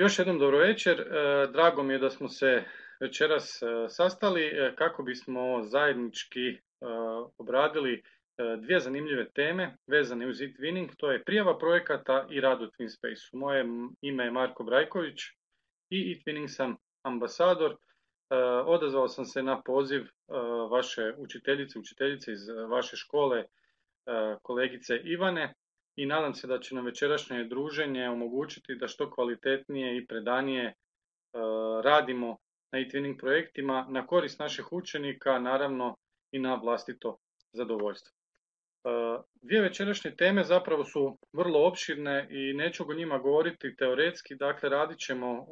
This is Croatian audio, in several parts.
Još jednom dobro večer. Drago mi je da smo se večeras sastali kako bismo zajednički obradili dvije zanimljive teme vezane uz e-twinning. To je prijava projekata i rad u TwinSpace. Moje ime je Marko Brajković i e-twinning sam ambasador. Odazvao sam se na poziv vaše učiteljice iz vaše škole, kolegice Ivane, i nadam se da će nam večerašnje druženje omogućiti da što kvalitetnije i predanije radimo na e-twinning projektima na korist naših učenika, naravno i na vlastito zadovoljstvo. Dvije večerašnje teme zapravo su vrlo opširne i neću o njima govoriti teoretski, dakle radit ćemo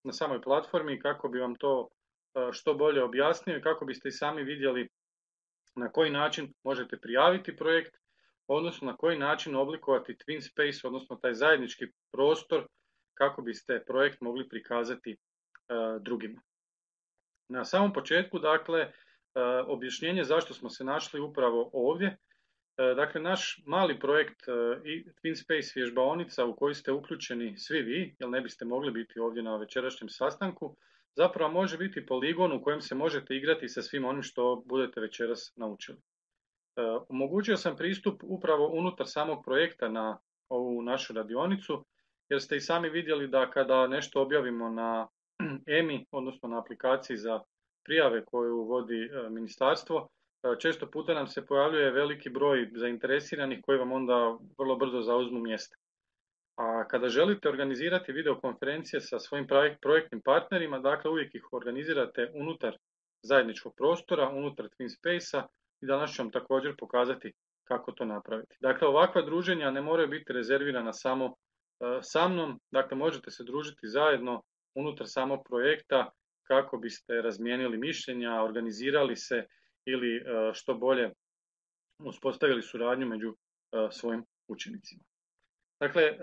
na samoj platformi kako bi vam to što bolje objasnio i kako biste i sami vidjeli na koji način možete prijaviti projekt, odnosno na koji način oblikovati TwinSpace, odnosno taj zajednički prostor kako biste projekt mogli prikazati drugima. Na samom početku, dakle, objašnjenje zašto smo se našli upravo ovdje. Dakle, naš mali projekt i TwinSpace vježbaonica u koji ste uključeni svi vi, jer ne biste mogli biti ovdje na večerašnjem sastanku, zapravo može biti poligon u kojem se možete igrati sa svim onim što budete večeras naučili. Omogućio sam pristup upravo unutar samog projekta na ovu našu radionicu, jer ste i sami vidjeli da kada nešto objavimo na EMI, odnosno na aplikaciji za prijave koju vodi ministarstvo, često puta nam se pojavljuje veliki broj zainteresiranih koji vam onda vrlo brzo zauzmu mjesta. A kada želite organizirati videokonferencije sa svojim projektnim partnerima, dakle uvijek ih organizirate unutar zajedničkog prostora, unutar TwinSpace-a, i danas ću vam također pokazati kako to napraviti. Dakle, ovakva druženja ne moraju biti rezervirana samo sa mnom, dakle možete se družiti zajedno unutar samog projekta kako biste razmijenili mišljenja, organizirali se ili što bolje uspostavili suradnju među svojim učenicima. Dakle,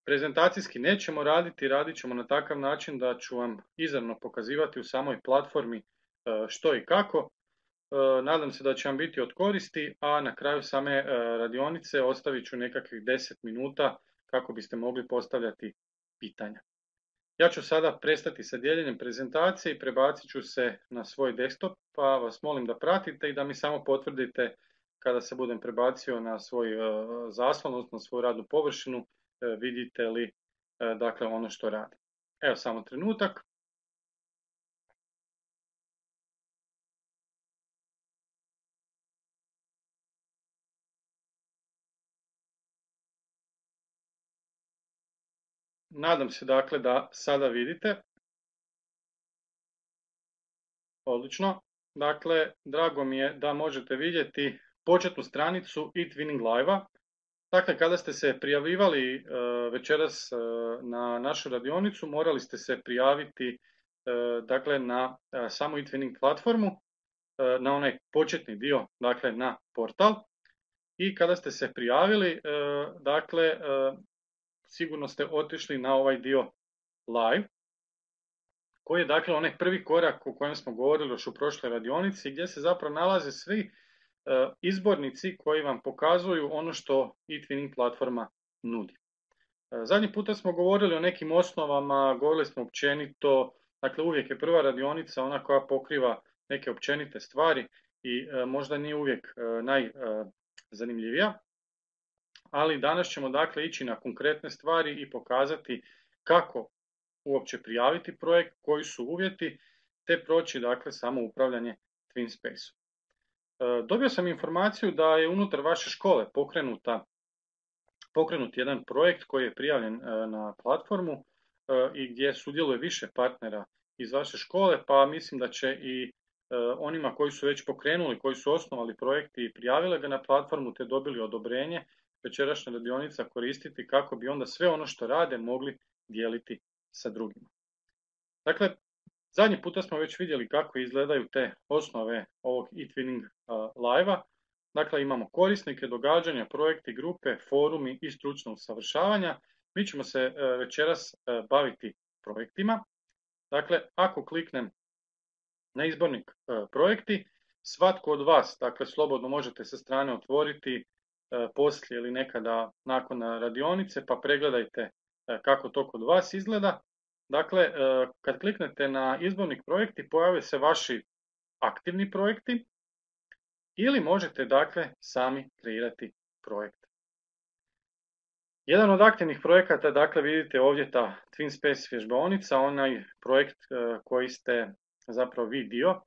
prezentacijski nećemo radit ćemo na takav način da ću vam izravno pokazivati u samoj platformi što i kako. Nadam se da će vam biti od koristi, a na kraju same radionice ostavit ću nekakvih 10 minuta kako biste mogli postavljati pitanja. Ja ću sada prestati sa dijeljenjem prezentacije i prebacit ću se na svoj desktop, pa vas molim da pratite i da mi samo potvrdite kada se budem prebacio na svoj zaslon, odnosno na svoju radnu površinu, vidite li dakle ono što radi. Evo samo trenutak. Nadam se dakle da sada vidite. Odlično. Dakle, drago mi je da možete vidjeti početnu stranicu e-twinning live-a. Dakle, kada ste se prijavljivali večeras na našu radionicu, morali ste se prijaviti dakle na samu e-twinning platformu, na onaj početni dio, dakle na portal. I kada ste se prijavili, dakle, sigurno ste otišli na ovaj dio live, koji je dakle onaj prvi korak o kojem smo govorili još u prošloj radionici, gdje se zapravo nalaze svi izbornici koji vam pokazuju ono što e-twinning platforma nudi. Zadnji puta smo govorili o nekim osnovama, govorili smo općenito, dakle uvijek je prva radionica ona koja pokriva neke općenite stvari i možda nije uvijek najzanimljivija, ali danas ćemo dakle ići na konkretne stvari i pokazati kako uopće prijaviti projekt, koji su uvjeti, te proći dakle samo upravljanje TwinSpace-om. Dobio sam informaciju da je unutar vaše škole pokrenut jedan projekt koji je prijavljen na platformu i gdje sudjeluje više partnera iz vaše škole, pa mislim da će i onima koji su već pokrenuli, koji su osnovali projekti i prijavili ga na platformu te dobili odobrenje, večerašnja radionica koristiti kako bi onda sve ono što rade mogli dijeliti sa drugima. Dakle, zadnji puta smo već vidjeli kako izgledaju te osnove ovog e-twinning live-a. Dakle, imamo korisnike, događanja, projekti, grupe, forumi i stručno usavršavanja. Mi ćemo se večeras baviti projektima. Dakle, ako kliknem na izbornik projekti, svatko od vas, dakle, slobodno možete sa strane otvoriti poslije ili nekada nakon radionice, pa pregledajte kako to kod vas izgleda. Dakle, kad kliknete na izbornik projekti, pojave se vaši aktivni projekti ili možete dakle sami kreirati projekt. Jedan od aktivnih projekata, dakle vidite ovdje ta TwinSpace vježbaonica, onaj projekt koji ste zapravo vi dio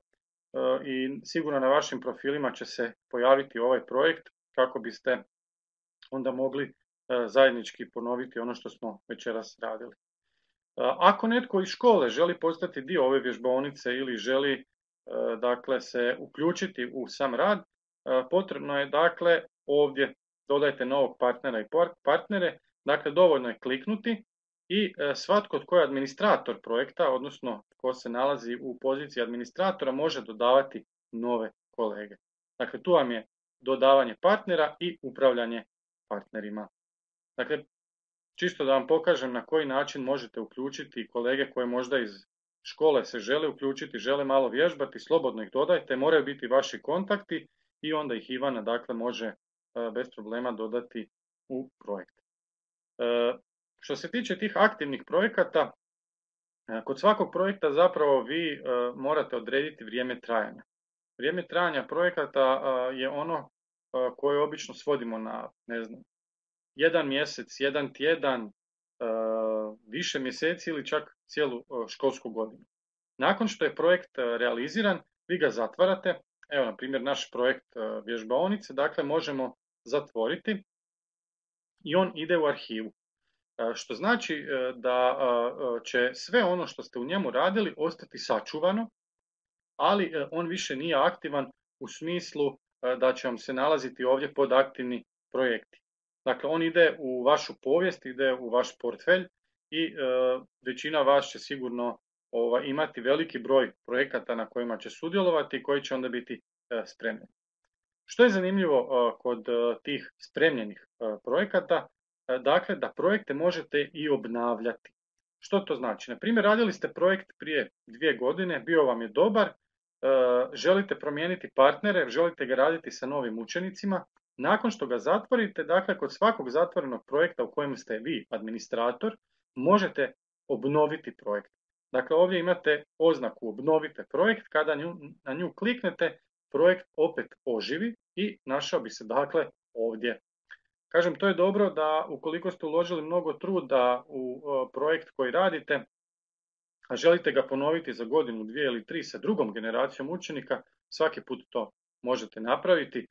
i sigurno na vašim profilima će se pojaviti ovaj projekt kako biste onda mogli zajednički ponoviti ono što smo večeras radili. Ako netko iz škole želi postati dio ove vježbaonice ili želi dakle se uključiti u sam rad, potrebno je dakle ovdje dodajte novog partnera i partnere, dakle dovoljno je kliknuti i svatko tko je administrator projekta, odnosno tko se nalazi u poziciji administratora, može dodavati nove kolege. Dakle, tu vam je dodavanje partnera i upravljanje partnerima. Dakle, čisto da vam pokažem na koji način možete uključiti kolege koje možda iz škole se žele uključiti, žele malo vježbati, slobodno ih dodajte, moraju biti vaši kontakti i onda ih Ivana dakle može bez problema dodati u projekt. Što se tiče tih aktivnih projekata, kod svakog projekta zapravo vi morate odrediti vrijeme trajanja. Vrijeme trajanja projekata je ono koje obično svodimo na, ne znam, 1 mjesec, 1 tjedan, više mjeseci ili čak cijelu školsku godinu. Nakon što je projekt realiziran, vi ga zatvarate. Evo, na primjer, naš projekt vježbaonice, dakle, možemo zatvoriti i on ide u arhivu. Što znači da će sve ono što ste u njemu radili ostati sačuvano, ali on više nije aktivan u smislu da će vam se nalaziti ovdje pod aktivni projekti. Dakle, on ide u vašu povijest, ide u vaš portfelj i većina vas će sigurno imati veliki broj projekata na kojima će sudjelovati i koji će onda biti spremni. Što je zanimljivo kod tih spremljenih projekata? Dakle, da projekte možete i obnavljati. Što to znači? Na primjer, radili ste projekt prije 2 godine, bio vam je dobar, želite promijeniti partnere, želite ga raditi sa novim učenicima. Nakon što ga zatvorite, dakle, kod svakog zatvorenog projekta u kojem ste vi administrator, možete obnoviti projekt. Dakle, ovdje imate oznaku obnovite projekt, kada na nju kliknete, projekt opet oživi i našao bi se dakle ovdje. Kažem, to je dobro da ukoliko ste uložili mnogo truda u projekt koji radite, a želite ga ponoviti za godinu, 2 ili 3 sa drugom generacijom učenika, svaki put to možete napraviti.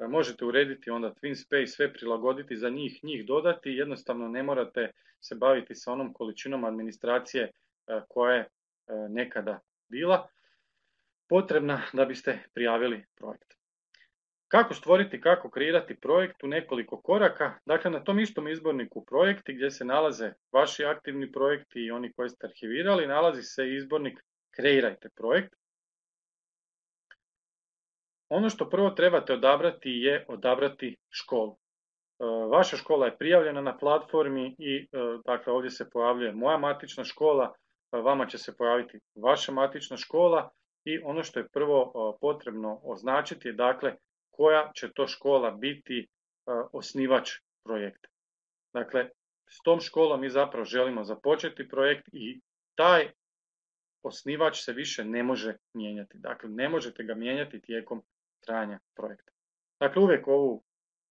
Možete urediti onda TwinSpace, sve prilagoditi za njih dodati, jednostavno ne morate se baviti sa onom količinom administracije koja je nekada bila potrebna da biste prijavili projekt. Kako stvoriti, kako kreirati projekt u nekoliko koraka? Dakle, na tom istom izborniku projekti gdje se nalaze vaši aktivni projekti i oni koji ste arhivirali, nalazi se izbornik kreirajte projekt. Ono što prvo trebate odabrati je odabrati školu. Vaša škola je prijavljena na platformi i dakle ovdje se pojavljuje moja matična škola, vama će se pojaviti vaša matična škola i ono što je prvo potrebno označiti je dakle koja će to škola biti osnivač projekta. Dakle, s tom školom mi zapravo želimo započeti projekt i taj osnivač se više ne može mijenjati. Dakle, ne možete ga mijenjati tijekom trajanja projekta. Dakle, uvijek ovu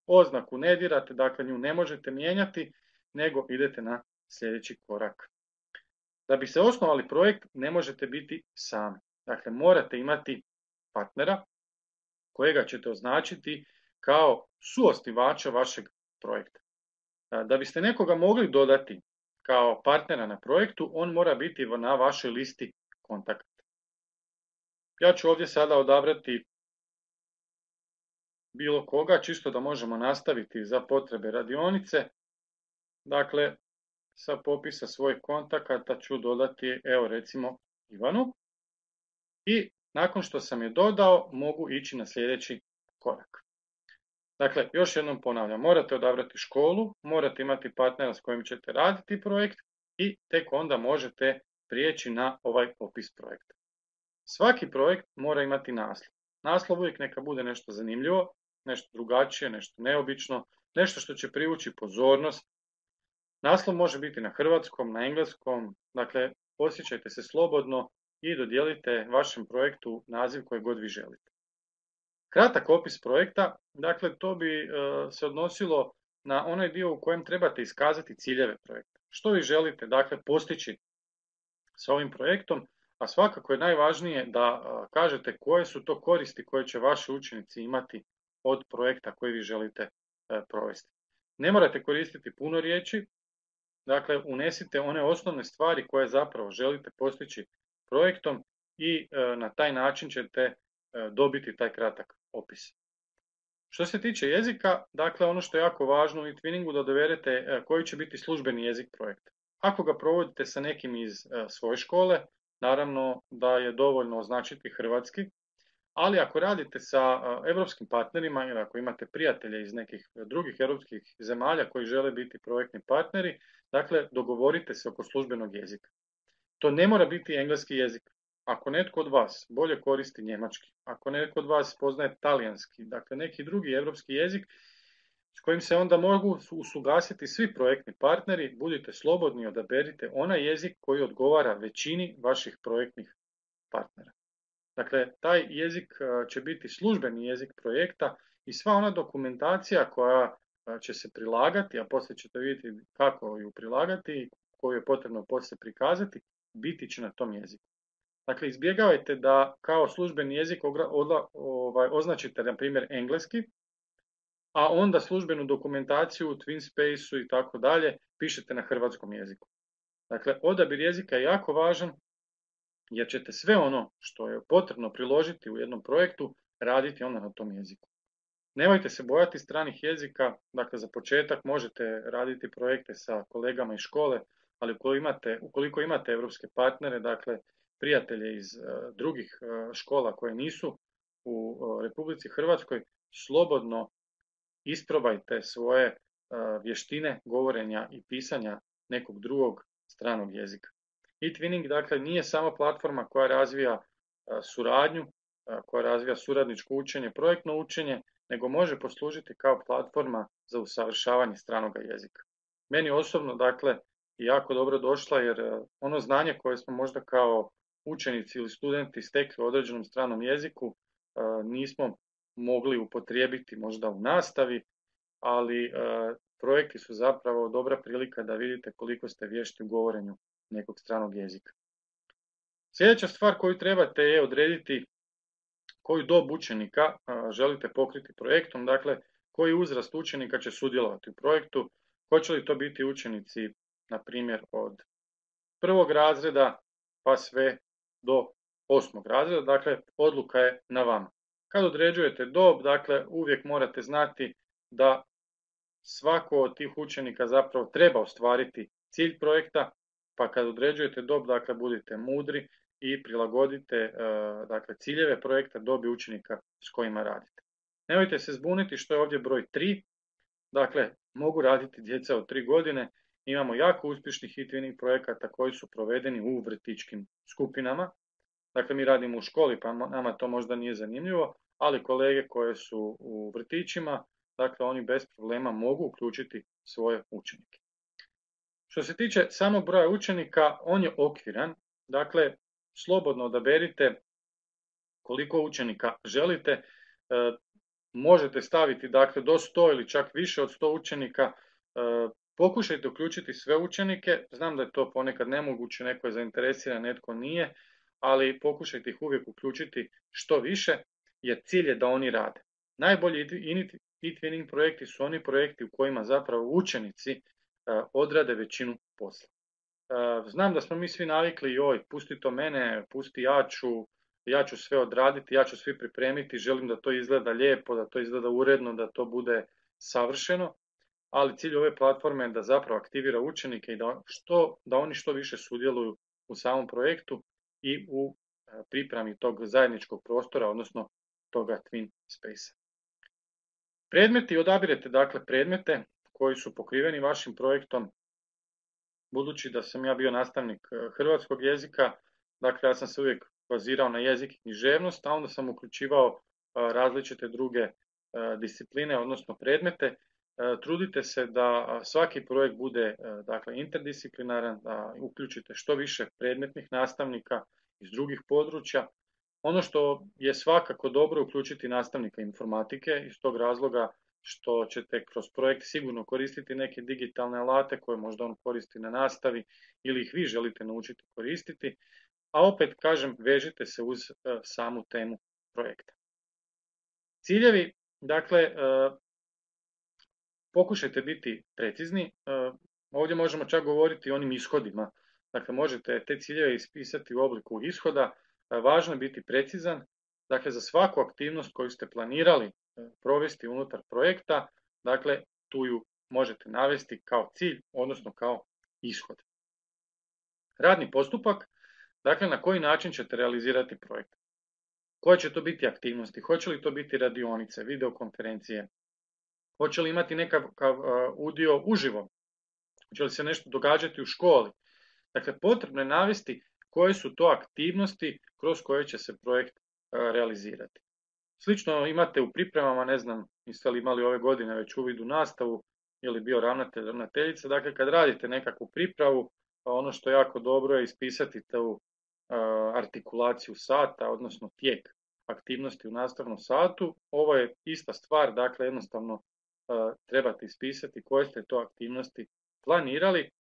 oznaku ne dirate, dakle nju ne možete mijenjati, nego idete na sljedeći korak. Da bi se osnovali projekt, ne možete biti sami. Dakle, morate imati partnera kojega ćete označiti kao suosnivača vašeg projekta. Da biste nekoga mogli dodati kao partnera na projektu, on mora biti na vašoj listi kontakata. Ja ću ovdje sada odabrati bilo koga, čisto da možemo nastaviti za potrebe radionice. Dakle, sa popisa svojih kontakata ću dodati, evo recimo, Ivanu. I nakon što sam je dodao, mogu ići na sljedeći korak. Dakle, još jednom ponavljam, morate odabrati školu, morate imati partnera s kojim ćete raditi projekt i tek onda možete prijeći na ovaj opis projekta. Svaki projekt mora imati naslov. Naslov uvijek neka bude nešto zanimljivo, nešto drugačije, nešto neobično, nešto što će privući pozornost. Naslov može biti na hrvatskom, na engleskom, dakle osjećajte se slobodno i dodijelite vašem projektu naziv koji god vi želite. Kratak opis projekta, dakle to bi se odnosilo na onaj dio u kojem trebate iskazati ciljeve projekta. Što vi želite dakle postići sa ovim projektom, a svakako je najvažnije da kažete koje su to koristi koje će vaši učenici imati od projekta koji vi želite provesti. Ne morate koristiti puno riječi, dakle unesite one osnovne stvari koje zapravo želite postići projektom i na taj način ćete dobiti taj kratak opis. Što se tiče jezika, dakle ono što je jako važno u eTwinningu da dovedete koji će biti službeni jezik projekta. Ako ga provodite sa nekim iz svoje škole, naravno da je dovoljno označiti hrvatski, ali ako radite sa europskim partnerima ili ako imate prijatelje iz nekih drugih europskih zemalja koji žele biti projektni partneri, dakle dogovorite se oko službenog jezika. To ne mora biti engleski jezik. Ako netko od vas bolje koristi njemački, ako netko od vas poznaje talijanski, dakle neki drugi europski jezik s kojim se onda mogu usuglasiti svi projektni partneri, budite slobodni, odaberite onaj jezik koji odgovara većini vaših projektnih partnera. Dakle, taj jezik će biti službeni jezik projekta i sva ona dokumentacija koja će se prilagati, a poslije ćete vidjeti kako ju prilagati i koju je potrebno poslije prikazati, biti će na tom jeziku. Dakle, izbjegavajte da kao službeni jezik označite, na primjer, engleski, a onda službenu dokumentaciju u TwinSpace-u i tako dalje pišete na hrvatskom jeziku. Dakle, odabir jezika je jako važan jer ćete sve ono što je potrebno priložiti u jednom projektu raditi onda na tom jeziku. Nemojte se bojati stranih jezika, dakle za početak možete raditi projekte sa kolegama iz škole, ali ukoliko imate evropske partnere, dakle prijatelje iz drugih škola koje nisu u Republici Hrvatskoj, slobodno isprobajte svoje vještine govorenja i pisanja nekog drugog stranog jezika. eTwinning dakle nije samo platforma koja razvija suradnju, koja razvija suradničko učenje, projektno učenje, nego može poslužiti kao platforma za usavršavanje stranog jezika. Meni osobno dakle jako dobro došla jer ono znanje koje smo možda kao učenici ili studenti stekli u određenom stranom jeziku nismo mogli upotrijebiti možda u nastavi, ali projekti su zapravo dobra prilika da vidite koliko ste vješti u govorenju nekog stranog jezika. Sljedeća stvar koju trebate je odrediti koju dob učenika želite pokriti projektom, dakle koji uzrast učenika će sudjelovati u projektu, hoće li to biti učenici, na primjer, od 1. razreda pa sve do 8. razreda, dakle odluka je na vama. Kad određujete dob, dakle uvijek morate znati da svako od tih učenika zapravo treba ostvariti cilj projekta, pa kad određujete dob, dakle budite mudri i prilagodite dakle, ciljeve projekta dobi učenika s kojima radite. Nemojte se zbuniti što je ovdje broj 3, dakle mogu raditi djeca od 3 godine, imamo jako uspješnih eTwinning projekata koji su provedeni u vrtićkim skupinama, dakle mi radimo u školi pa nama to možda nije zanimljivo, ali kolege koje su u vrtićima, dakle oni bez problema mogu uključiti svoje učenike. Što se tiče samog broja učenika, on je okviran, dakle slobodno odaberite koliko učenika želite, možete staviti dakle do 100 ili čak više od 100 učenika, pokušajte uključiti sve učenike, znam da je to ponekad nemoguće, neko je zainteresiran, netko nije, ali pokušajte ih uvijek uključiti što više, jer cilj je da oni rade. Najbolji eTwinning projekti su oni projekti u kojima zapravo učenici odrade većinu posla. Znam da smo mi svi navikli, joj, pusti to mene, pusti ja ću sve odraditi, ja ću sve pripremiti, želim da to izgleda lijepo, da to izgleda uredno, da to bude savršeno, ali cilj ove platforme je da zapravo aktivira učenike i da oni što više sudjeluju u samom projektu i u pripremi tog zajedničkog prostora, odnosno toga Twin Space. Predmeti, odabirete dakle predmete koji su pokriveni vašim projektom. Budući da sam ja bio nastavnik hrvatskog jezika, dakle ja sam se uvijek bazirao na jezik i književnost, a onda sam uključivao različite druge discipline, odnosno predmete. Trudite se da svaki projekt bude dakle, interdisciplinaran, da uključite što više predmetnih nastavnika iz drugih područja. Ono što je svakako dobro uključiti nastavnika informatike iz tog razloga što ćete kroz projekt sigurno koristiti neke digitalne alate koje možda on koristi na nastavi ili ih vi želite naučiti koristiti, a opet kažem vežite se uz samu temu projekta. Ciljevi, dakle, pokušajte biti precizni, ovdje možemo čak govoriti o onim ishodima, dakle možete te ciljeve ispisati u obliku ishoda, važno je biti precizan, dakle za svaku aktivnost koju ste planirali provesti unutar projekta, dakle tu ju možete navesti kao cilj, odnosno kao ishod. Radni postupak, dakle na koji način ćete realizirati projekt. Koje će to biti aktivnosti, hoće li to biti radionice, videokonferencije, hoće li imati nekakav udio uživo, hoće li se nešto događati u školi. Dakle, potrebno je navesti koje su to aktivnosti kroz koje će se projekt realizirati. Slično imate u pripremama, ne znam, jeste li imali ove godine već uvid u nastavu ili bio ravnatelj, ravnateljica, dakle kad radite nekakvu pripravu, ono što je jako dobro je ispisati tu artikulaciju sata, odnosno tijek aktivnosti u nastavnom satu. Ovo je ista stvar, dakle jednostavno trebate ispisati koje ste to aktivnosti planirali,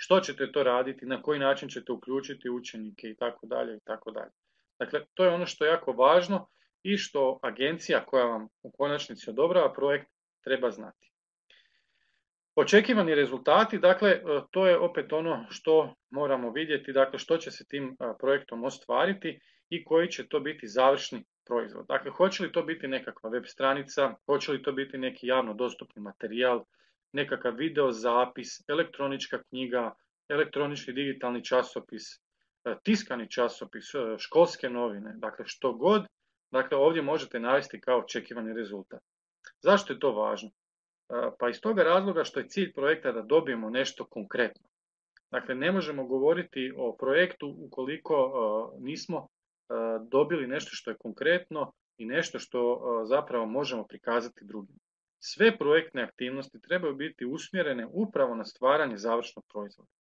što ćete to raditi, na koji način ćete uključiti učenike i tako dalje i tako dalje. Dakle, to je ono što je jako važno i što agencija koja vam u konačnici odobrava projekt treba znati. Očekivani rezultati, dakle, to je opet ono što moramo vidjeti, dakle, što će se tim projektom ostvariti i koji će to biti završni proizvod. Dakle, hoće li to biti nekakva web stranica, hoće li to biti neki javno dostupni materijal, nekakav video zapis, elektronička knjiga, elektronički digitalni časopis, tiskani časopis, školske novine, dakle što god, dakle ovdje možete navesti kao očekivani rezultat. Zašto je to važno? Pa iz toga razloga što je cilj projekta da dobijemo nešto konkretno. Dakle, ne možemo govoriti o projektu ukoliko nismo dobili nešto što je konkretno i nešto što zapravo možemo prikazati drugima. Sve projektne aktivnosti trebaju biti usmjerene upravo na stvaranje završnog proizvoda.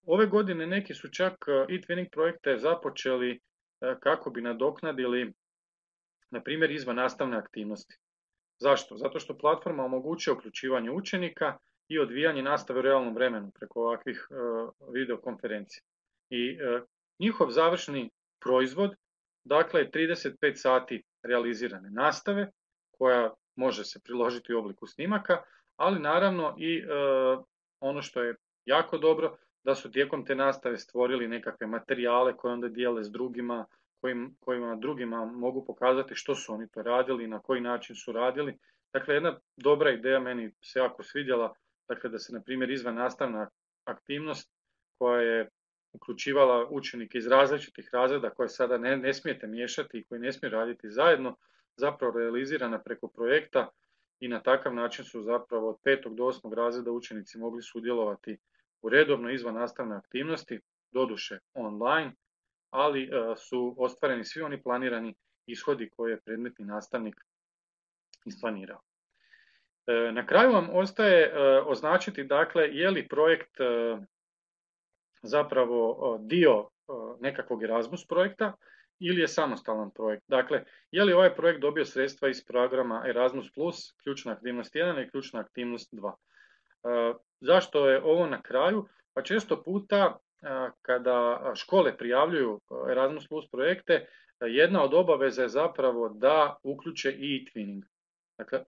Ove godine neki su čak e-twinning projekte započeli kako bi nadoknadili, na primjer, izvan nastavne aktivnosti. Zašto? Zato što platforma omogućuje uključivanje učenika i odvijanje nastave u realnom vremenu preko ovakvih videokonferencija. I njihov završni proizvod, dakle, je 35 sati realizirane nastave, koja može se priložiti u obliku snimaka, ali naravno i ono što je jako dobro, da su tijekom te nastave stvorili nekakve materijale koje onda dijele s drugima, kojima drugima mogu pokazati što su oni to radili, na koji način su radili. Dakle, jedna dobra ideja meni se jako svidjela, dakle da se na primjer izvan nastavna aktivnost koja je uključivala učenike iz različitih razreda koje sada ne smijete miješati i koji ne smiju raditi zajedno, zapravo realizirana preko projekta i na takav način su zapravo od 5. do 8. razreda učenici mogli sudjelovati u redovno izvan nastavne aktivnosti, doduše online, ali su ostvareni svi oni planirani ishodi koje je predmetni nastavnik isplanirao. Na kraju vam ostaje označiti, dakle, je li projekt zapravo dio nekakvog Erasmus projekta ili je samostalan projekt. Dakle, je li ovaj projekt dobio sredstva iz programa Erasmus+, ključna aktivnost 1 i ključna aktivnost 2. Zašto je ovo na kraju? Pa često puta kada škole prijavljuju Erasmus Plus projekte, jedna od obaveza je zapravo da uključe i e-twinning. Dakle,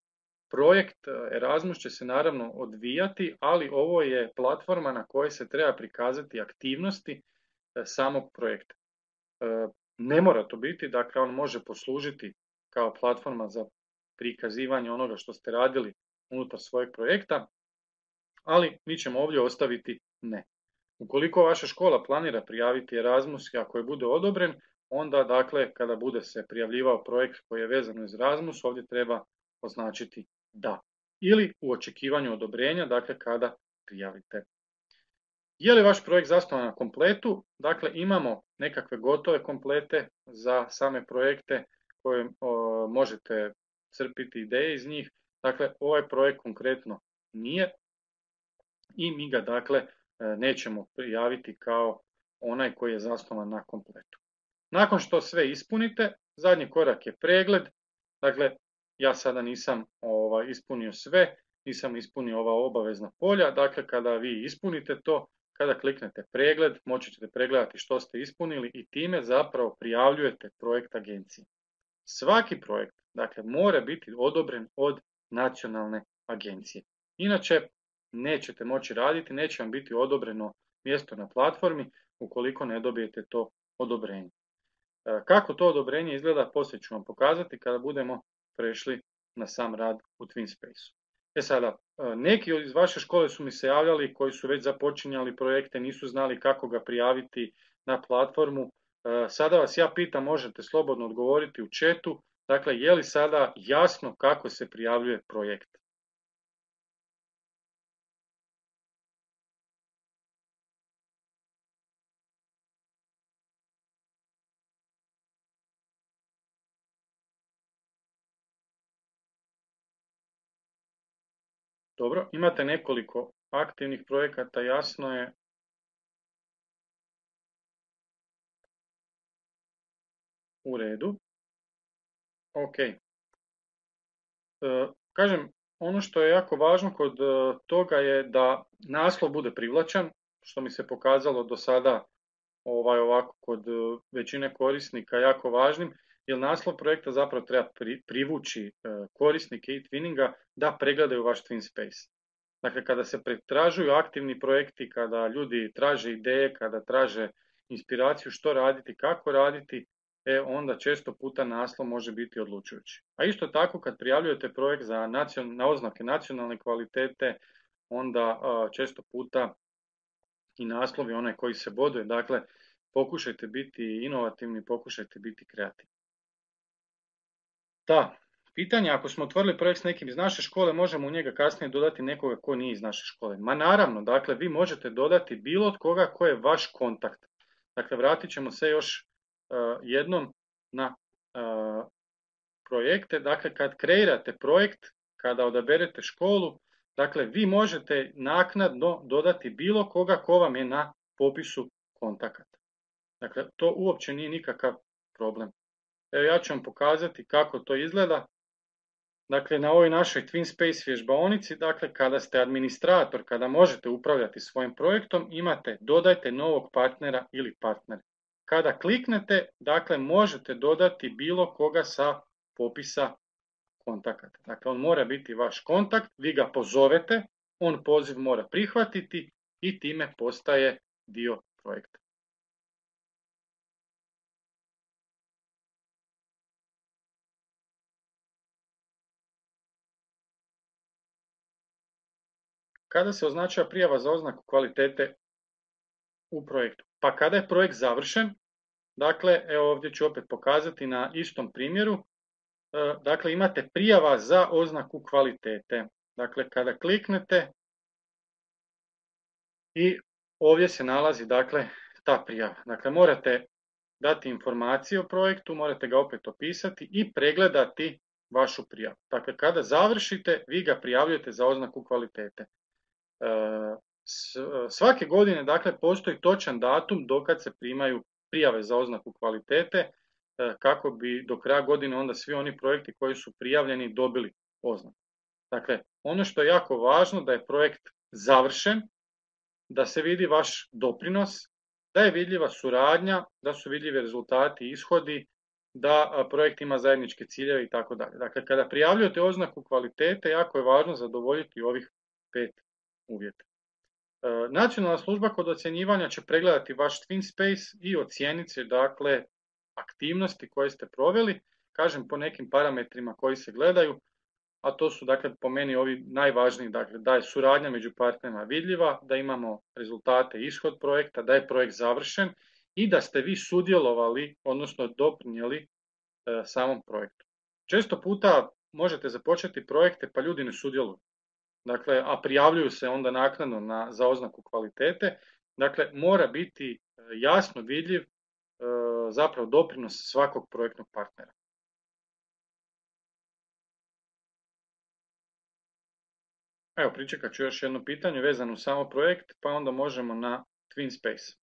projekt Erasmus će se naravno odvijati, ali ovo je platforma na kojoj se treba prikazati aktivnosti samog projekta. Ne mora to biti, dakle on može poslužiti kao platforma za prikazivanje onoga što ste radili unutar svojeg projekta, ali mi ćemo ovdje ostaviti ne. Ukoliko vaša škola planira prijaviti Erasmus i ako je bude odobren, onda dakle kada bude se prijavljivao projekt koji je vezan uz Erasmus, ovdje treba označiti da. Ili u očekivanju odobrenja, dakle kada prijavite. Je li vaš projekt zasnovan na kompletu? Dakle, imamo nekakve gotove komplete za same projekte koje možete crpiti ideje iz njih. Dakle, ovaj projekt konkretno nije i mi ga dakle nećemo prijaviti kao onaj koji je zasnovan na kompletu. Nakon što sve ispunite, zadnji korak je pregled. Dakle, ja sada nisam ispunio sve, nisam ispunio ova obavezna polja. Dakle, kada vi ispunite to, kada kliknete pregled, moći ćete pregledati što ste ispunili i time zapravo prijavljujete projekt agenciji. Svaki projekt, dakle, mora biti odobren od nacionalne agencije. Inače, nećete moći raditi, neće vam biti odobreno mjesto na platformi ukoliko ne dobijete to odobrenje. Kako to odobrenje izgleda, poslije ću vam pokazati kada budemo prešli na sam rad u TwinSpace-u. Sada, neki iz vaše škole su mi se javljali koji su već započinjali projekte, nisu znali kako ga prijaviti na platformu. Sada vas ja pitam, možete slobodno odgovoriti u chatu, dakle, je li sada jasno kako se prijavljuje projekt? Dobro, imate nekoliko aktivnih projekata, jasno je. U redu. Ok. Kažem, ono što je jako važno kod toga je da naslov bude privlačan, što mi se pokazalo do sada ovako kod većine korisnika jako važnim, jer naslov projekta zapravo treba privući korisnike e-twinninga da pregledaju vaš TwinSpace. Dakle, kada se pretražuju aktivni projekti, kada ljudi traže ideje, kada traže inspiraciju što raditi, kako raditi, onda često puta naslov može biti odlučujući. A isto tako kad prijavljujete projekt na oznake nacionalne kvalitete, onda često puta i naslov je onaj koji se boduje. Dakle, pokušajte biti inovativni, pokušajte biti kreativni. Da, pitanje, ako smo otvorili projekt s nekim iz naše škole, možemo u njega kasnije dodati nekoga ko nije iz naše škole. Ma naravno, dakle, vi možete dodati bilo od koga ko je vaš kontakt. Dakle, vratit ćemo se još jednom na projekte. Dakle, kad kreirate projekt, kada odaberete školu, dakle, vi možete naknadno dodati bilo koga ko vam je na popisu kontakata. Dakle, to uopće nije nikakav problem. Evo, ja ću vam pokazati kako to izgleda. Dakle, na ovoj našoj TwinSpace vježbaonici, dakle, kada ste administrator, kada možete upravljati svojim projektom, imate dodajte novog partnera ili partnera. Kada kliknete, dakle, možete dodati bilo koga sa popisa kontakata. Dakle, on mora biti vaš kontakt, vi ga pozovete, on poziv mora prihvatiti i time postaje dio projekta. Kada se označava prijava za oznaku kvalitete u projektu? Pa kada je projekt završen, dakle, evo ovdje ću opet pokazati na istom primjeru, dakle, imate prijava za oznaku kvalitete. Dakle, kada kliknete i ovdje se nalazi, dakle, ta prijava. Dakle, morate dati informacije o projektu, morate ga opet opisati i pregledati vašu prijavu. Dakle, kada završite, vi ga prijavljujete za oznaku kvalitete. Svake godine, dakle, postoji točan datum dokad se primaju prijave za oznaku kvalitete, kako bi do kraja godine onda svi oni projekti koji su prijavljeni dobili oznaku. Dakle, ono što je jako važno da je projekt završen, da se vidi vaš doprinos, da je vidljiva suradnja, da su vidljivi rezultati, ishodi, da projekt ima zajedničke ciljeve i tako dalje. Dakle, kada prijavljujete oznaku kvalitete, jako je važno zadovoljiti ovih 5 uvjeta. Nacionalna služba kod ocjenjivanja će pregledati vaš TwinSpace i ocijeniti, dakle, aktivnosti koje ste proveli, kažem po nekim parametrima koji se gledaju, a to su, dakle, po meni ovi najvažniji, dakle, da je suradnja među partnerima vidljiva, da imamo rezultate i ishod projekta, da je projekt završen i da ste vi sudjelovali, odnosno doprinijeli samom projektu. Često puta možete započeti projekte pa ljudi ne sudjeluju. Dakle, a prijavljuju se onda naknadno za oznaku kvalitete. Dakle, mora biti jasno vidljiv zapravo doprinos svakog projektnog partnera. Evo, pričekat ću još jedno pitanje vezano uz samo projekt, pa onda možemo na TwinSpace.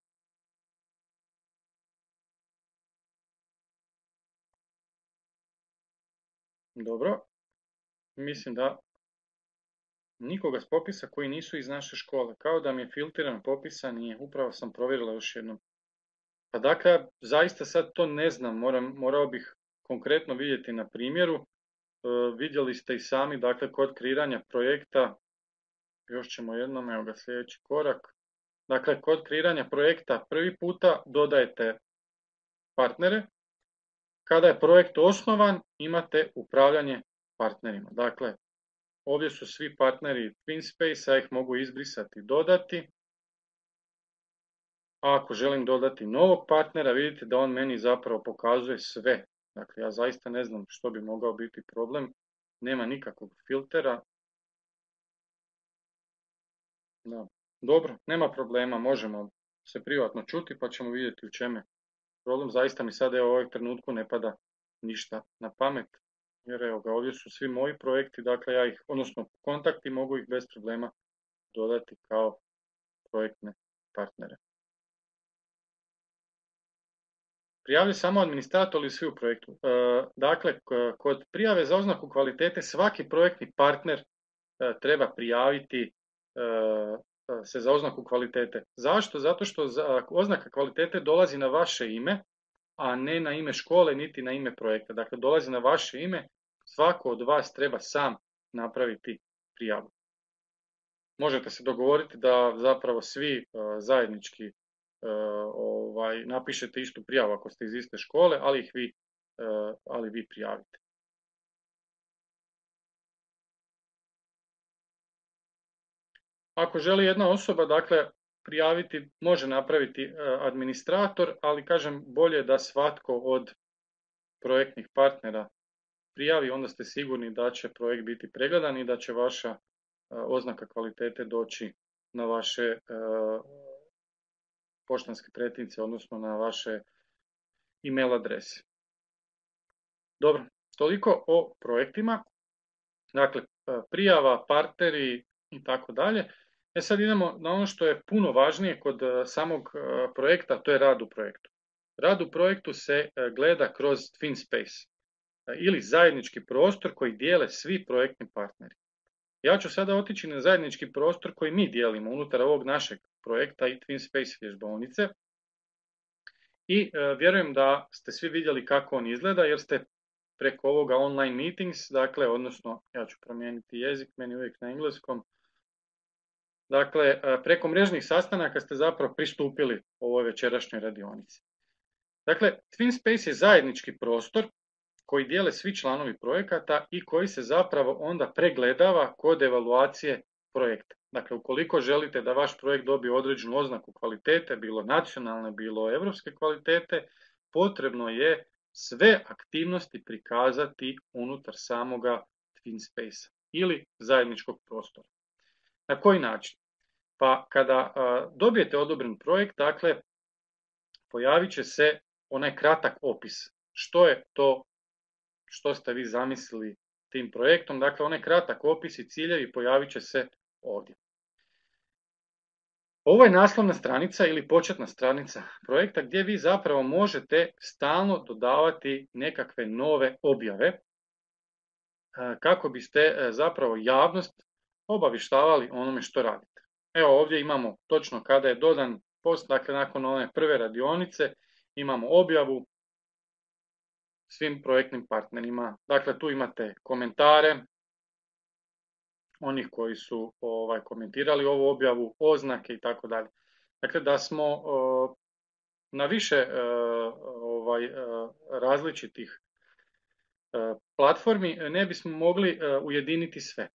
Dobro, mislim da nikoga s popisa koji nisu iz naše škole. Kao da mi je filtriran popisa, nije. Upravo sam provjerila još jednom. Pa dakle, zaista sad to ne znam, morao bih konkretno vidjeti na primjeru. Vidjeli ste i sami, dakle, kod kreiranja projekta, još ćemo jednom, evo ga sljedeći korak. Dakle, kod kreiranja projekta prvi puta dodajete partnere. Kada je projekt osnovan, imate upravljanje partnerima. Dakle, ovdje su svi partneri TwinSpace, ja ih mogu izbrisati i dodati. A ako želim dodati novog partnera, vidite da on meni zapravo pokazuje sve. Dakle, ja zaista ne znam što bi mogao biti problem. Nema nikakvog filtera. Da. Dobro, nema problema, možemo se privatno čuti pa ćemo vidjeti u čemu je problem. Zaista mi sada u ovom trenutku ne pada ništa na pamet. Jer evo ga, ovdje su svi moji projekti, dakle ja ih, odnosno kontakti, mogu ih bez problema dodati kao projektne partnere. Prijavi samo administrator ili svi u projektu. Dakle, kod prijave za oznaku kvalitete svaki projektni partner treba prijaviti se za oznaku kvalitete. Zašto? Zato što oznaka kvalitete dolazi na vaše ime, a ne na ime škole niti na ime projekta. Dakle, dolazi na vaše ime, svako od vas treba sam napraviti prijavu. Možete se dogovoriti da zapravo svi zajednički napišete istu prijavu ako ste iz iste škole, ali vi prijavite. Ako želi jedna osoba, dakle, prijaviti, može napraviti administrator, ali kažem, bolje da svatko od projektnih partnera prijavi, onda ste sigurni da će projekt biti pregledan i da će vaša oznaka kvalitete doći na vaše poštanske pretince, odnosno na vaše email adrese. Dobro, toliko o projektima. Dakle, prijava, partneri i tako dalje. Sad idemo na ono što je puno važnije kod samog projekta, to je rad u projektu. Rad u projektu se gleda kroz TwinSpace ili zajednički prostor koji dijele svi projektni partneri. Ja ću sada otići na zajednički prostor koji mi dijelimo unutar ovog našeg projekta i TwinSpace vježbaonice. I vjerujem da ste svi vidjeli kako on izgleda jer ste preko ovoga online meetings, dakle, odnosno ja ću promijeniti jezik, meni uvijek na engleskom. Dakle, preko mrežnih sastanaka ste zapravo pristupili ovoj večerašnjoj radionici. Dakle, TwinSpace je zajednički prostor koji dijele svi članovi projekata i koji se zapravo onda pregledava kod evaluacije projekta. Dakle, ukoliko želite da vaš projekt dobije određenu oznaku kvalitete, bilo nacionalne, bilo evropske kvalitete, potrebno je sve aktivnosti prikazati unutar samoga TwinSpace ili zajedničkog prostora. Na koji način? Pa kada dobijete odobren projekt, dakle, pojavit će se onaj kratak opis. Što je to što ste vi zamislili tim projektom? Dakle, onaj kratak opis i ciljevi pojavit će se ovdje. Ovo je naslovna stranica ili početna stranica projekta gdje vi zapravo možete stalno dodavati nekakve nove objave kako biste zapravo javnost obavještavali onome što radite. Evo ovdje imamo točno kada je dodan post, dakle nakon one prve radionice imamo objavu svim projektnim partnerima. Dakle, tu imate komentare onih koji su komentirali ovu objavu, oznake i tako dalje. Dakle, da smo na više različitih platformi ne bismo mogli ujediniti sve.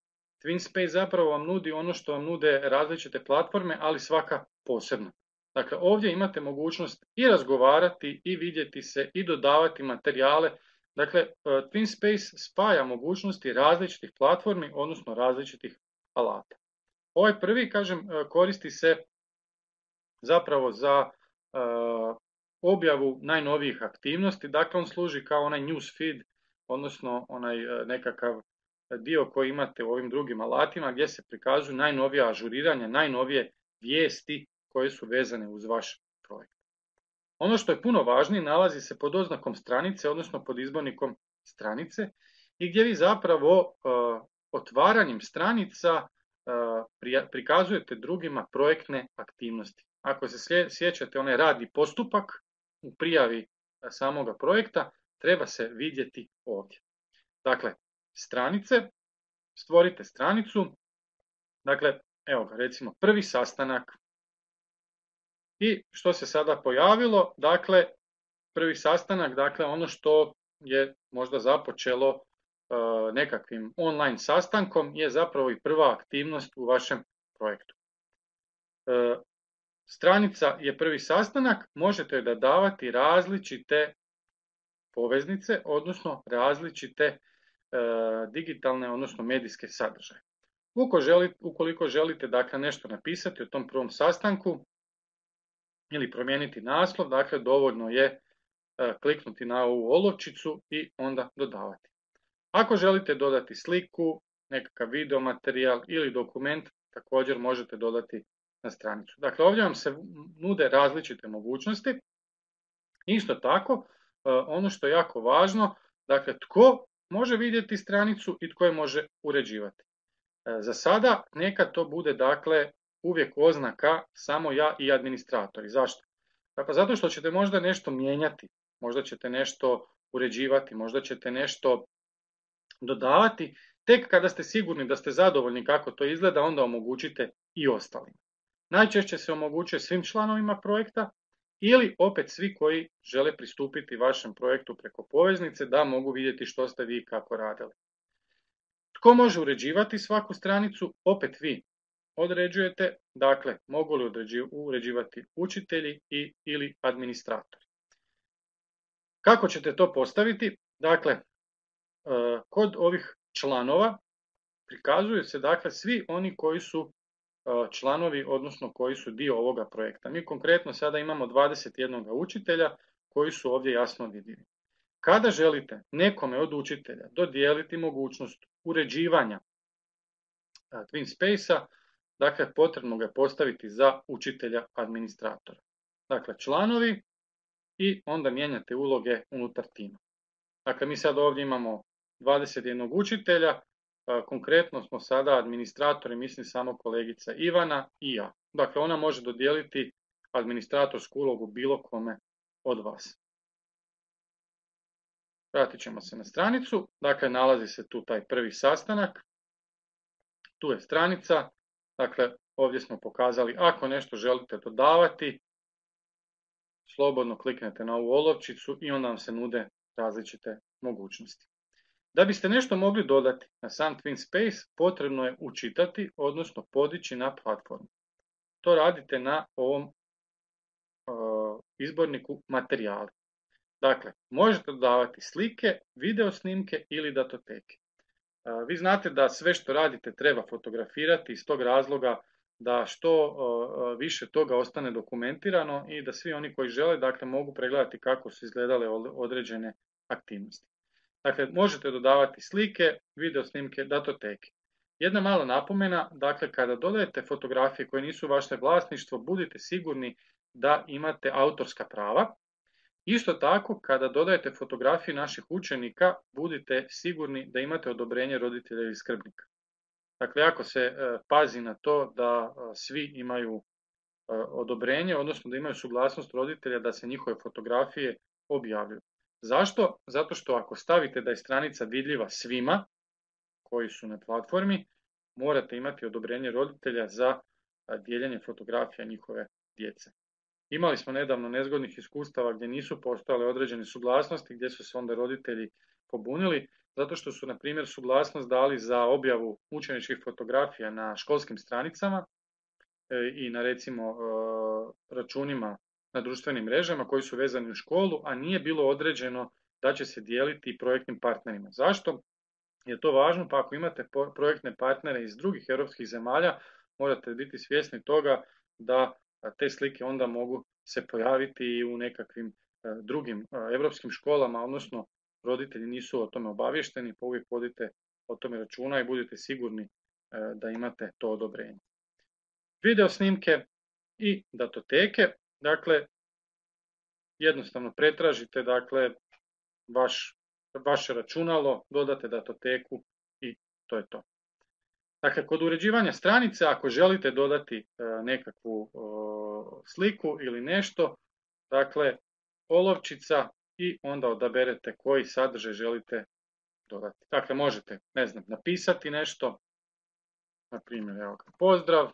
TwinSpace zapravo vam nudi ono što vam nude različite platforme, ali svaka posebno. Dakle, ovdje imate mogućnost i razgovarati i vidjeti se i dodavati materijale. Dakle, TwinSpace spaja mogućnosti različitih platformi, odnosno različitih alata. Ovaj prvi, kažem, koristi se zapravo za objavu najnovijih aktivnosti. Dakle, on služi kao onaj news feed, odnosno onaj nekakav dio koji imate u ovim drugim alatima gdje se prikazuju najnovija ažuriranja, najnovije vijesti koje su vezane uz vaš projekt. Ono što je puno važnije nalazi se pod oznakom stranice, odnosno pod izbornikom stranice i gdje vi zapravo otvaranjem stranica prikazujete drugima projektne aktivnosti. Ako se sjećate onaj radni postupak u prijavi samoga projekta, treba se vidjeti ovdje. Dakle, stranice, stvorite stranicu, dakle, evo ga, recimo prvi sastanak. I što se sada pojavilo? Dakle, prvi sastanak, dakle ono što je možda započelo nekakvim online sastankom je zapravo i prva aktivnost u vašem projektu. Stranica je prvi sastanak, možete joj davati različite poveznice, odnosno različite digitalne, odnosno medijske sadržaje. Ukoliko želite dakle, nešto napisati o tom prvom sastanku ili promijeniti naslov, dakle dovoljno je kliknuti na ovu olovčicu i onda dodavati. Ako želite dodati sliku, nekakav video materijal ili dokument, također možete dodati na stranicu. Dakle, ovdje vam se nude različite mogućnosti. Isto tako, ono što je jako važno, dakle, tko može vidjeti stranicu i tko je može uređivati. Za sada neka to bude, dakle, uvijek oznaka samo ja i administratori. Zašto? Pa zato što ćete možda nešto mijenjati, možda ćete nešto uređivati, možda ćete nešto dodavati. Tek kada ste sigurni da ste zadovoljni kako to izgleda, onda omogućite i ostalima. Najčešće se omogućuje svim članovima projekta ili opet svi koji žele pristupiti vašem projektu preko poveznice da mogu vidjeti što ste vi kako radili. Tko može uređivati svaku stranicu? Opet vi određujete, dakle mogu li uređivati učitelji ili administratori. Kako ćete to postaviti? Dakle, kod ovih članova prikazuju se dakle svi oni koji su članovi, odnosno koji su dio ovoga projekta. Mi konkretno sada imamo 21 učitelja koji su ovdje jasno vidljivi. Kada želite nekome od učitelja dodijeliti mogućnost uređivanja TwinSpace-a, dakle potrebno ga je postaviti za učitelja administratora. Dakle, članovi i onda mijenjate uloge unutar tima. Dakle, mi sad ovdje imamo 21 učitelja, konkretno smo sada administratori, mislim samo kolegica Ivana i ja. Dakle, ona može dodijeliti administratorsku ulogu bilo kome od vas. Vratit ćemo se na stranicu, dakle nalazi se tu taj prvi sastanak, tu je stranica, dakle ovdje smo pokazali ako nešto želite dodavati, slobodno kliknete na ovu olovčicu i onda vam se nude različite mogućnosti. Da biste nešto mogli dodati na sam TwinSpace, potrebno je učitati, odnosno podići na platformu. To radite na ovom izborniku materijali. Dakle, možete dodavati slike, video snimke ili datoteke. Vi znate da sve što radite treba fotografirati iz tog razloga da što više toga ostane dokumentirano i da svi oni koji žele dakle, mogu pregledati kako su izgledale određene aktivnosti. Dakle, možete dodavati slike, video snimke, datoteke. Jedna mala napomena, dakle, kada dodajete fotografije koje nisu vaše vlasništvo, budite sigurni da imate autorska prava. Isto tako, kada dodajete fotografije naših učenika, budite sigurni da imate odobrenje roditelja ili skrbnika. Dakle, ako se pazi na to da svi imaju odobrenje, odnosno da imaju suglasnost roditelja da se njihove fotografije objavljuju. Zašto? Zato što ako stavite da je stranica vidljiva svima koji su na platformi, morate imati odobrenje roditelja za dijeljenje fotografija njihove djece. Imali smo nedavno nezgodnih iskustava gdje nisu postojale određene suglasnosti, gdje su se onda roditelji pobunili, zato što su, na primjer, suglasnost dali za objavu učeničkih fotografija na školskim stranicama i na, recimo, računima na društvenim mrežama koji su vezani u školu, a nije bilo određeno da će se dijeliti projektnim partnerima. Zašto je to važno? Pa ako imate projektne partnere iz drugih europskih zemalja, morate biti svjesni toga da te slike onda mogu se pojaviti i u nekakvim drugim europskim školama, odnosno roditelji nisu o tome obavješteni, pa uvijek vodite o tome računa i budite sigurni da imate to odobrenje. Video snimke i datoteke, dakle, jednostavno pretražite, dakle, vaše računalo, dodate datoteku i to je to. Dakle, kod uređivanja stranice, ako želite dodati nekakvu sliku ili nešto, dakle, olovčica i onda odaberete koji sadržaj želite dodati. Dakle, možete, ne znam, napisati nešto, na primjer, evo ga, pozdrav.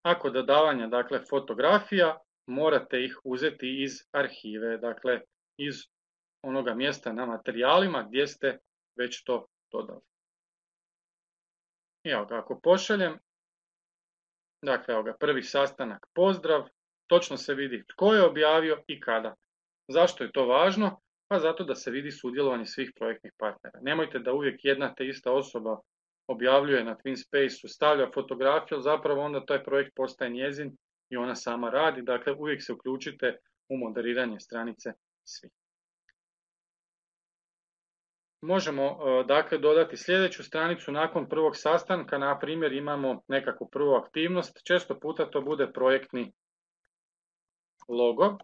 A kod dodavanja, dakle, fotografija, morate ih uzeti iz arhive, dakle, iz onoga mjesta na materijalima gdje ste već to dodali. I evo ga, ako pošaljem, dakle, evo ga, prvi sastanak, pozdrav, točno se vidi tko je objavio i kada. Zašto je to važno? Pa zato da se vidi sudjelovanje svih projektnih partnera. Nemojte da uvijek jedna te ista osoba objavljuje na TwinSpace-u, stavlja fotografiju, zapravo onda taj projekt postaje njezin i ona sama radi. Dakle, uvijek se uključite u moderiranje stranice svi. Možemo dakle dodati sljedeću stranicu nakon prvog sastanka, na primjer imamo nekakvu prvu aktivnost, često puta to bude projektni logo.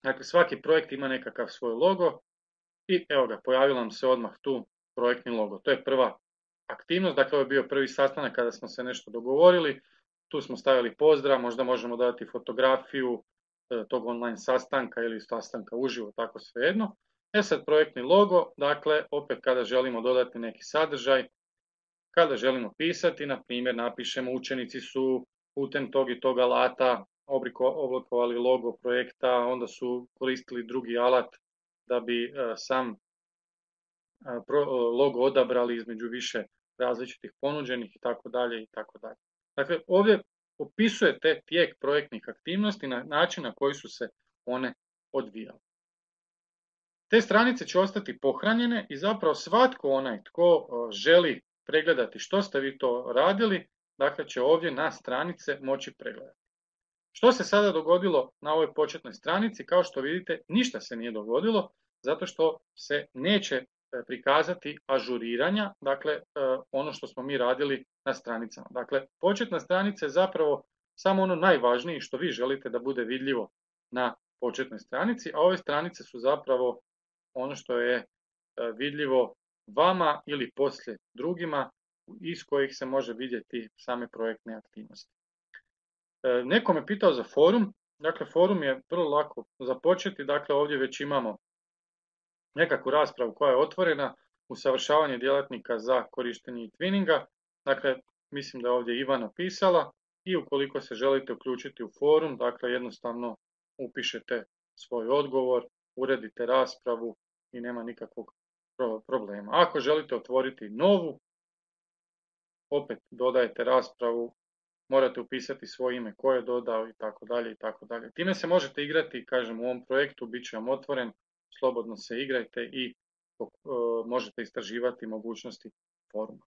Dakle, svaki projekt ima nekakav svoj logo i evo ga, pojavio nam se odmah tu projektni logo. To je prva aktivnost, dakle ovo je bio prvi sastanak kada smo se nešto dogovorili, tu smo stavili pozdrav, možda možemo dodati fotografiju tog online sastanka ili sastanka uživo, tako svejedno. Sad projektni logo, dakle opet kada želimo dodati neki sadržaj, kada želimo pisati, na primjer napišemo učenici su putem tog i tog alata oblikovali logo projekta, onda su koristili drugi alat da bi sam logo odabrali između više različitih ponuđenih i tako dalje i tako dalje. Dakle, ovdje opisujete tijek projektnih aktivnosti na način na koji su se one odvijale. Te stranice će ostati pohranjene i zapravo svatko onaj tko želi pregledati što ste vi to radili, dakle će ovdje na stranice moći pregledati. Što se sada dogodilo na ovoj početnoj stranici? Kao što vidite, ništa se nije dogodilo, zato što se neće prikazati ažuriranja, dakle ono što smo mi radili na stranicama. Dakle, početna stranica je zapravo samo ono najvažnije što vi želite da bude vidljivo na početnoj stranici, a ove stranice su zapravo ono što je vidljivo vama ili poslije drugima, iz kojih se može vidjeti same projektne aktivnosti. Neko me pitao za forum, dakle forum je vrlo lako započeti, dakle ovdje već imamo nekakvu raspravu koja je otvorena, usavršavanje djelatnika za korištenje Twinninga, dakle mislim da je ovdje Ivana pisala i ukoliko se želite uključiti u forum, dakle jednostavno upišete svoj odgovor, uredite raspravu i nema nikakvog problema. Ako želite otvoriti novu, opet dodajete raspravu, morate upisati svoje ime ko je dodao i tako dalje i tako dalje. Time se možete igrati, kažem, u ovom projektu, bit će vam otvoren, slobodno se igrajte i možete istraživati mogućnosti foruma.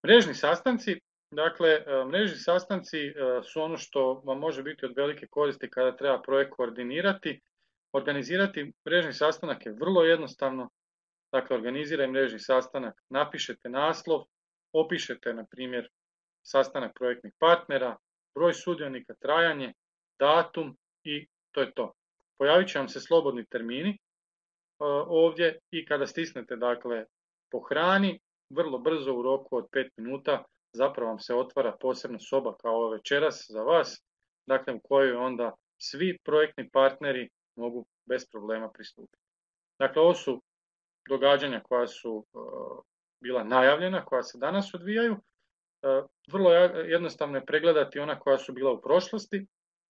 Mrežni sastanci, dakle, mrežni sastanci su ono što vam može biti od velike koristi kada treba projekt koordinirati. Organizirati mrežni sastanak je vrlo jednostavno, dakle, organiziraj mrežni sastanak, napišete naslov, opišete, na primjer, sastanak projektnih partnera, broj sudionika, trajanje, datum i to je to. Pojavit će vam se slobodni termini ovdje i kada stisnete, dakle, pohrani, vrlo brzo u roku od 5 minuta zapravo vam se otvara posebna soba kao večeras za vas, dakle u kojoj onda svi projektni partneri mogu bez problema pristupiti. Dakle, ovo su događanja koja su bila najavljena, koja se danas odvijaju. Vrlo jednostavno je pregledati ona koja su bila u prošlosti.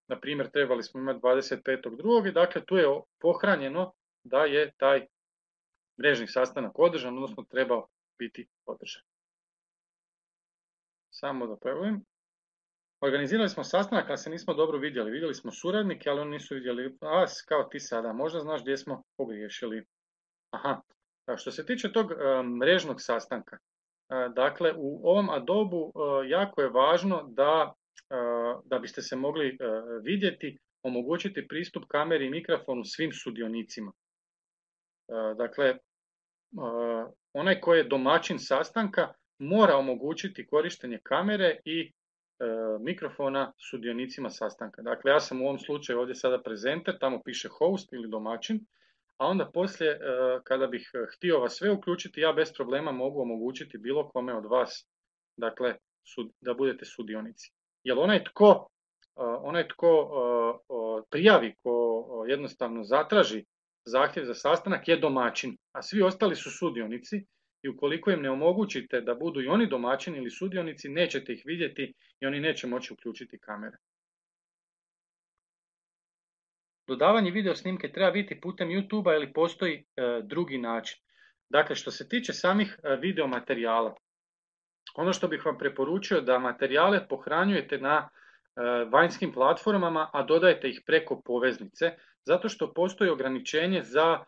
Na primjer, trebali smo imati 25.2. i dakle tu je pohranjeno da je taj mrežni sastanak održan, odnosno trebao biti održan. Samo da pregledam. Organizirali smo sastanak, ali se nismo dobro vidjeli. Vidjeli smo suradnike, ali oni nisu vidjeli vas kao ti sada. Možda znaš gdje smo pogriješili. Aha, što se tiče tog mrežnog sastanka, dakle u ovom Adobe jako je važno da biste se mogli vidjeti, omogućiti pristup kameri i mikrofonu svim sudionicima. Dakle, onaj koji je domaćin sastanka mora omogućiti korištenje kamere i mikrofona sudionicima sastanka. Dakle, ja sam u ovom slučaju ovdje sada prezenter, tamo piše host ili domaćin, a onda poslije kada bih htio vas sve uključiti, ja bez problema mogu omogućiti bilo kome od vas, dakle, da budete sudionici. Jer onaj tko prijavi, ko jednostavno zatraži zahtjev za sastanak je domaćin, a svi ostali su sudionici i ukoliko im ne omogućite da budu i oni domaćini ili sudionici, nećete ih vidjeti i oni neće moći uključiti kamere. Dodavanje video snimke treba biti putem YouTube-a ili postoji drugi način. Dakle, što se tiče samih video materijala, ono što bih vam preporučio da materijale pohranjujete na vanjskim platformama, a dodajete ih preko poveznice, zato što postoji ograničenje za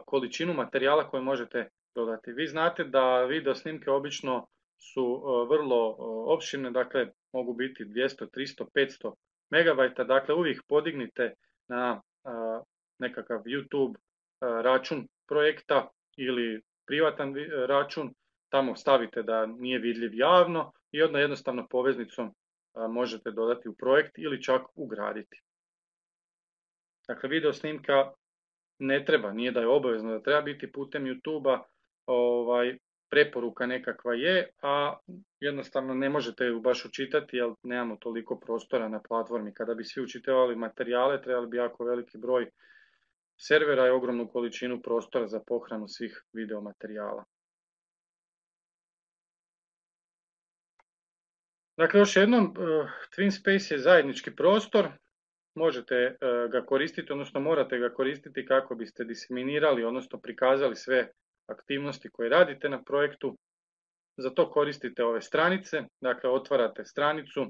količinu materijala koje možete dodati. Vi znate da video snimke obično su vrlo opširne, dakle mogu biti 200, 300, 500 megabajta, dakle uvijek podignite na nekakav YouTube račun projekta ili privatan račun, tamo stavite da nije vidljiv javno i onda jednostavno poveznicom možete dodati u projekt ili čak ugraditi. Dakle, video snimka ne treba, nije da je obavezno da treba biti putem YouTube-a, preporuka nekakva je, a jednostavno ne možete ju baš učitati jer nemamo toliko prostora na platformi. Kada bi svi učitavali materijale, trebali bi jako veliki broj servera i ogromnu količinu prostora za pohranu svih video materijala. Dakle, još jednom, TwinSpace je zajednički prostor, možete ga koristiti, odnosno morate ga koristiti kako biste diseminirali, odnosno prikazali sve aktivnosti koje radite na projektu. Za to koristite ove stranice, dakle otvarate stranicu.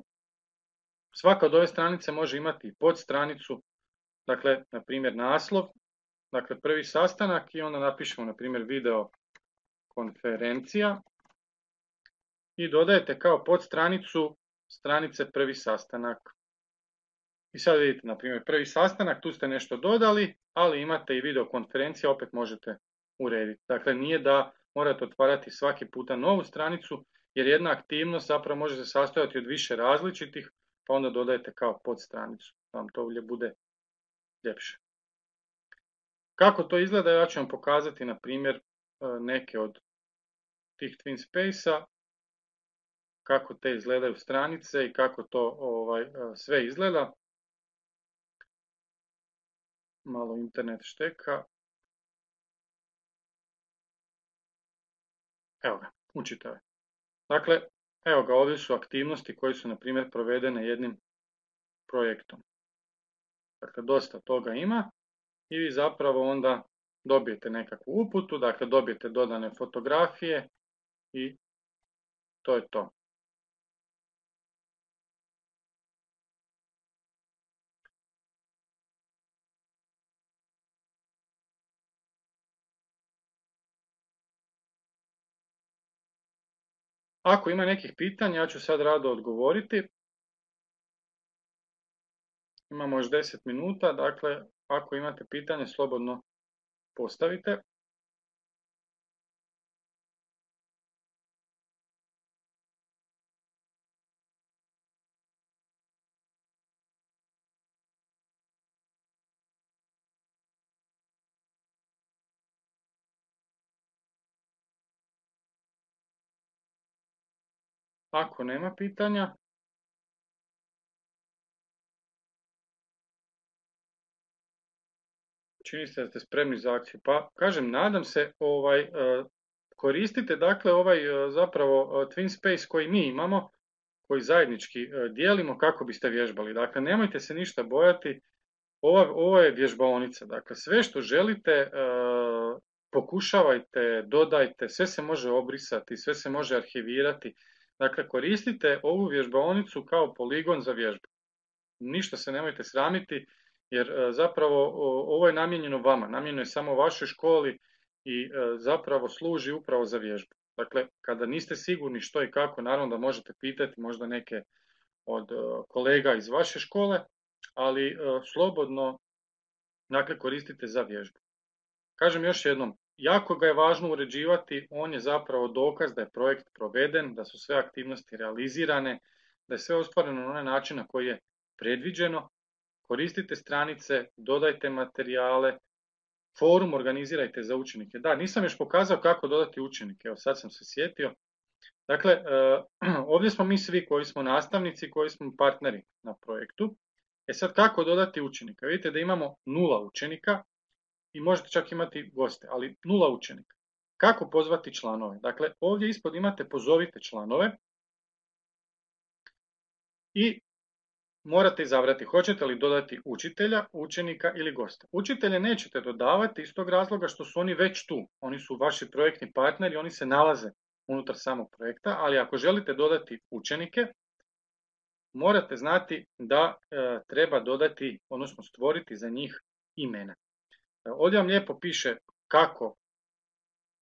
Svaka od ove stranice može imati i podstranicu, dakle, na primjer naslov, dakle prvi sastanak i onda napišemo, na primjer, video konferencija i dodajete kao podstranicu stranice prvi sastanak. I sad vidite, na primjer, prvi sastanak, tu ste nešto dodali, ali imate i video konferencija, opet možete urediti. Dakle, nije da morate otvarati svaki puta novu stranicu, jer jedna aktivnost zapravo može se sastojati od više različitih, pa onda dodajete kao podstranicu, da vam to bude ljepše. Kako to izgleda, ja ću vam pokazati, na primjer, neke od tih TwinSpace-a, kako te izgledaju stranice i kako to sve izgleda. Malo internet šteka. Evo ga, učitave. Dakle, evo ga, ovdje su aktivnosti koje su, na primjer, provedene jednim projektom. Dakle, dosta toga ima i vi zapravo onda dobijete nekakvu uputu, dakle, dobijete dodane fotografije i to je to. Ako ima nekih pitanja, ja ću sad rado odgovoriti. Imamo još 10 minuta, dakle, ako imate pitanje, slobodno postavite. Ako nema pitanja, čini se da ste spremni za akciju. Pa, kažem, nadam se, koristite, dakle, zapravo TwinSpace koji mi imamo, koji zajednički dijelimo kako biste vježbali. Dakle, nemojte se ništa bojati, ovo je vježbaonica. Dakle, sve što želite, pokušavajte, dodajte, sve se može obrisati, sve se može arhivirati. Dakle, koristite ovu vježbaonicu kao poligon za vježbu. Ništa se nemojte sramiti, jer zapravo ovo je namijenjeno vama, namijenjeno je samo vašoj školi i zapravo služi upravo za vježbu. Dakle, kada niste sigurni što i kako, naravno da možete pitati možda neke od kolega iz vaše škole, ali slobodno, dakle, koristite za vježbu. Kažem još jednom, jako ga je važno uređivati, on je zapravo dokaz da je projekt proveden, da su sve aktivnosti realizirane, da je sve ostvareno na onaj način na koji je predviđeno. Koristite stranice, dodajte materijale, forum organizirajte za učenike. Da, nisam još pokazao kako dodati učenike, evo sad sam se sjetio. Dakle, ovdje smo mi svi koji smo nastavnici, koji smo partneri na projektu. Sad kako dodati učenika? Vidite da imamo 0 učenika i možete čak imati goste, ali 0 učenika. Kako pozvati članove? Dakle, ovdje ispod imate pozovite članove i morate izabrati hoćete li dodati učitelja, učenika ili gosta. Učitelje nećete dodavati iz tog razloga što su oni već tu. Oni su vaši projektni partneri, oni se nalaze unutar samog projekta, ali ako želite dodati učenike, morate znati da treba dodati, odnosno stvoriti za njih imena. Ovdje vam lijepo piše kako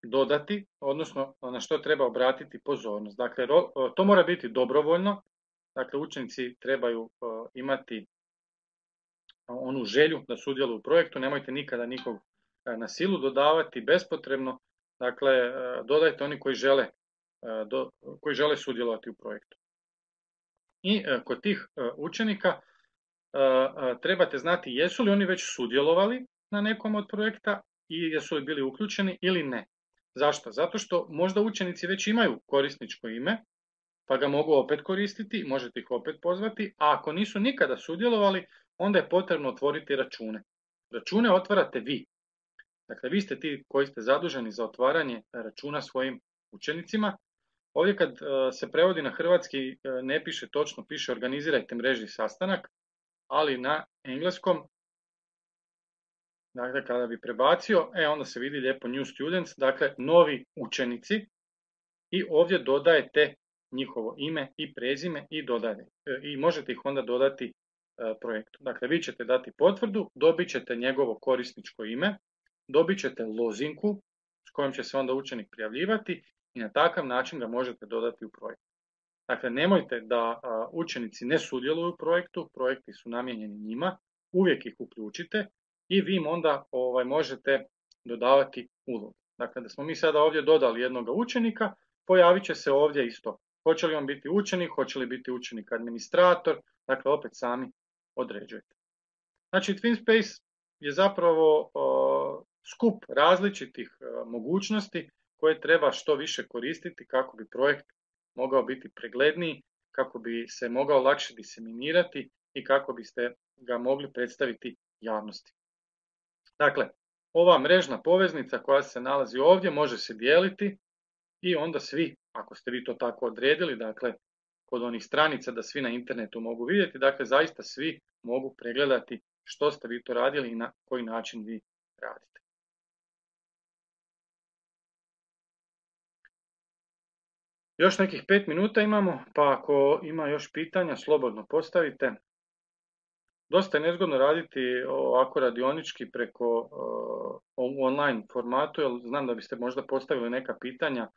dodati, odnosno na što treba obratiti pozornost. Dakle, to mora biti dobrovoljno, dakle učenici trebaju imati onu želju da sudjeluju u projektu, nemojte nikada nikog na silu dodavati bespotrebno, dakle dodajte oni koji žele sudjelovati u projektu. I kod tih učenika trebate znati jesu li oni već sudjelovali na nekom od projekta i jesu li bili uključeni ili ne. Zašto? Zato što možda učenici već imaju korisničko ime, pa ga mogu opet koristiti, možete ih opet pozvati, a ako nisu nikada sudjelovali, onda je potrebno otvoriti račune. Račune otvarate vi. Dakle, vi ste ti koji ste zaduženi za otvaranje računa svojim učenicima. Ovdje kad se prevodi na hrvatski ne piše točno, piše organizirajte mrežni sastanak, ali na engleskom, dakle kada bi prebacio, onda se vidi lijepo new students, dakle novi učenici i ovdje dodajete njihovo ime i prezime i možete ih onda dodati projektu. Dakle, vi ćete dati potvrdu, dobit ćete njegovo korisničko ime, dobit ćete lozinku s kojom će se onda učenik prijavljivati i na takav način ga možete dodati u projekt. Dakle, nemojte da učenici ne sudjeluju u projektu, projekti su namijenjeni njima, uvijek ih uključite i vi im onda možete dodavati ulogu. Dakle, da smo mi sada ovdje dodali jednog učenika, pojavit će se ovdje isto. Hoće li on biti učenik, hoće li biti učenik administrator, dakle opet sami određujete. Znači, TwinSpace je zapravo skup različitih mogućnosti koje treba što više koristiti kako bi projekt mogao biti pregledniji, kako bi se mogao lakše diseminirati i kako biste ga mogli predstaviti javnosti. Dakle, ova mrežna poveznica koja se nalazi ovdje može se dijeliti i onda svi, ako ste vi to tako odredili, dakle kod onih stranica da svi na internetu mogu vidjeti, dakle zaista svi mogu pregledati što ste vi to radili i na koji način vi radite. Još nekih 5 minuta imamo, pa ako ima još pitanja, slobodno postavite. Dosta je nezgodno raditi ovako radionički preko online formatu, jer znam da biste možda postavili neka pitanja,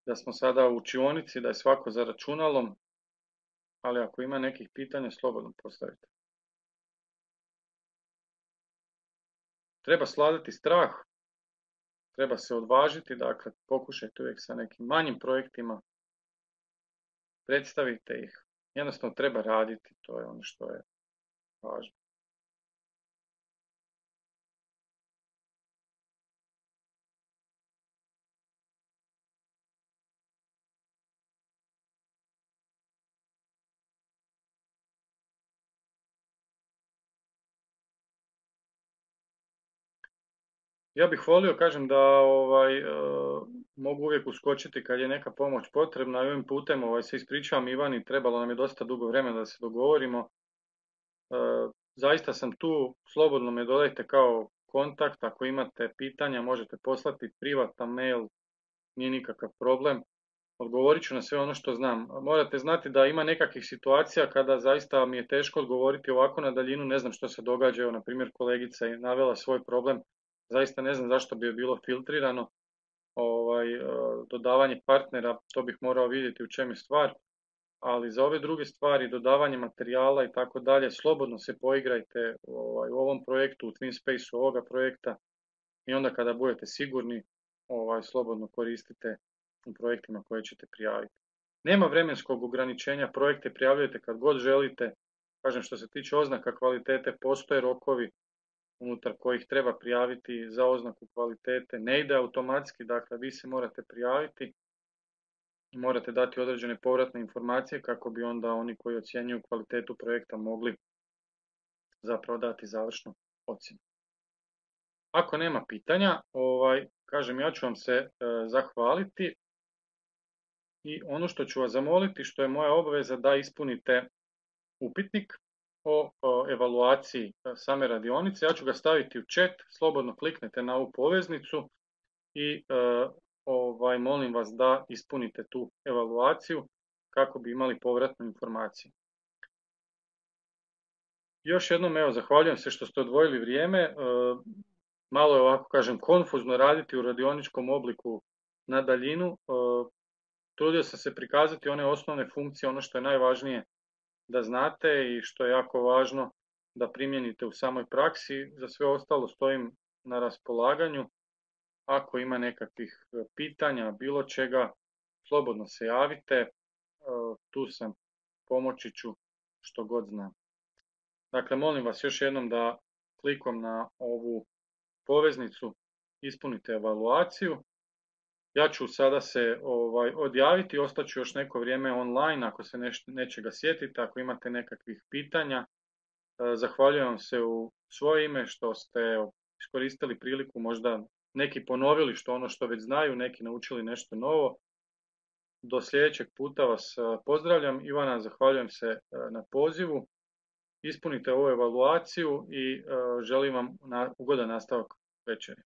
da smo sada u učionici, da je svako za računalom, ali ako ima nekih pitanja, slobodno postavite. Treba sladati strah, treba se odvažiti, dakle pokušajte uvijek sa nekim manjim projektima, predstavite ih, jednostavno treba raditi, to je ono što je važno. Ja bih volio, kažem, da mogu uvijek uskočiti kad je neka pomoć potrebna i ovim putem se ispričavam Ivani, trebalo nam je dosta dugo vremena da se dogovorimo. Zaista sam tu, slobodno me dodajte kao kontakt, ako imate pitanja možete poslati privatan mail, nije nikakav problem. Odgovorit ću na sve ono što znam. Morate znati da ima nekakvih situacija kada zaista mi je teško odgovoriti ovako na daljinu, ne znam što se događa, evo na primjer kolegica je navela svoj problem, zaista ne znam zašto bi je bilo filtrirano dodavanje partnera, to bih morao vidjeti u čem je stvar, ali za ove druge stvari, dodavanje materijala i tako dalje, slobodno se poigrajte u ovom projektu, u TwinSpace ovoga projekta, i onda kada budete sigurni, slobodno koristite u projektima koje ćete prijaviti. Nema vremenskog ograničenja, projekte prijavljujete kad god želite. Kažem, što se tiče oznaka kvalitete, postoje rokovi unutar kojih treba prijaviti za oznaku kvalitete. Ne ide automatski, dakle vi se morate prijaviti i morate dati određene povratne informacije kako bi onda oni koji ocjenjuju kvalitetu projekta mogli zapravo dati završnu ocjenu. Ako nema pitanja, kažem, ja ću vam se zahvaliti i ono što ću vas zamoliti, što je moja obaveza, da ispunite upitnik o evaluaciji same radionice. Ja ću ga staviti u chat, slobodno kliknete na ovu poveznicu i molim vas da ispunite tu evaluaciju kako bi imali povratnu informaciju. Još jednom, evo, zahvaljujem se što ste odvojili vrijeme. Malo je, ovako kažem, konfuzno raditi u radioničkom obliku na daljinu. Trudio sam se prikazati one osnovne funkcije, ono što je najvažnije da znate i što je jako važno da primijenite u samoj praksi. Za sve ostalo stojim na raspolaganju. Ako ima nekakvih pitanja, bilo čega, slobodno se javite. Tu sam, pomoći ću što god znam. Dakle, molim vas još jednom da klikom na ovu poveznicu ispunite evaluaciju. Ja ću sada se odjaviti, ostaću još neko vrijeme online ako se nečega sjetite, ako imate nekakvih pitanja. Zahvaljujem vam se u svoje ime što ste iskoristili priliku, možda neki ponovili ono što već znaju, neki naučili nešto novo. Do sljedećeg puta vas pozdravljam. Ivana, zahvaljujem se na pozivu. Ispunite ovu evaluaciju i želim vam ugodan nastavak večeri.